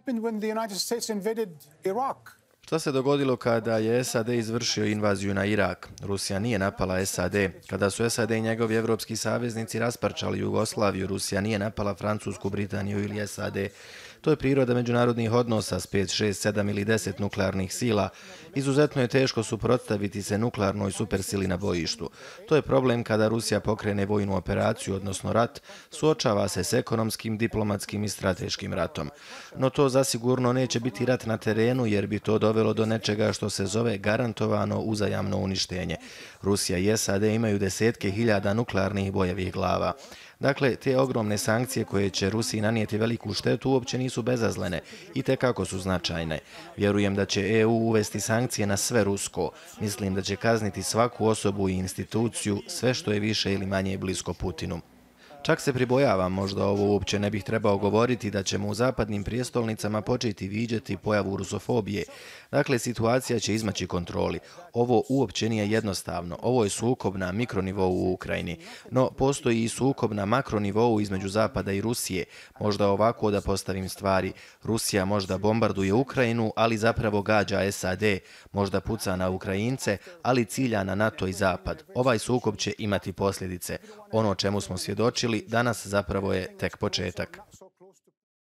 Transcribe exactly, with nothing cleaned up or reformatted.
happened when the United States invaded Iraq? Šta se dogodilo kada je S A D izvršio invaziju na Irak? Rusija nije napala S A D. Kada su S A D i njegovi evropski saveznici rasparčali Jugoslaviju, Rusija nije napala Francusku, Britaniju ili S A D. To je priroda međunarodnih odnosa s pet, šest, sedam ili deset nuklearnih sila. Izuzetno je teško suprotstaviti se nuklearnoj supersili na bojištu. To je problem kada Rusija pokrene vojnu operaciju, odnosno rat, suočava se s ekonomskim, diplomatskim i strateškim ratom. No to zasigurno neće biti rat na terenu jer bi to dovelo do nečega što se zove garantovano uzajamno uništenje. Rusija i S A D imaju desetke hiljada nuklearnih bojevih glava. Dakle, te ogromne sankcije koje će Rusiji nanijeti veliku štetu uopće nisu bezazlene i tekako su značajne. Vjerujem da će E U uvesti sankcije na sve rusko. Mislim da će kazniti svaku osobu i instituciju, sve što je više ili manje blisko Putinu. Čak se pribojavam, možda ovo uopće ne bih trebao govoriti, da ćemo u zapadnim prijestolnicama početi viđati pojavu rusofobije. Dakle, situacija će izmaći kontroli. Ovo uopće nije jednostavno. Ovo je sukob na mikronivou u Ukrajini. No, postoji i sukob na makronivou između Zapada i Rusije. Možda ovako da postavim stvari. Rusija možda bombarduje Ukrajinu, ali zapravo gađa S A D. Možda puca na Ukrajince, ali cilja na NATO i Zapad. Ovaj sukob će imati posljedice. Ono čemu smo svjedočili danas zapravo je tek početak.